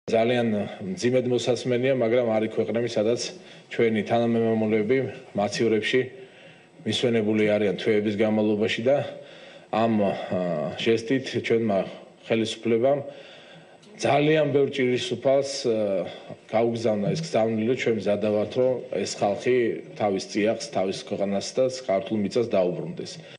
ძალიან მძიმედ მოსასმენია, მაგრამ არის ქვეყნები, სადაც ჩვენი თანამემამულეები მაცივრებში მისვენებული არიან თვეების განმავლობაში და ამ ჟესტით ჩვენმა ხელისუფლებამ ძალიან ბევრ ჭირისუფალს გაუგზავნა ეს გზავნილი, ჩვენ მზადა ვართ, რომ ეს ხალხი თავის წიაღს, თავის ქვეყანას და ქართულ მიწას დაუბრუნდეს.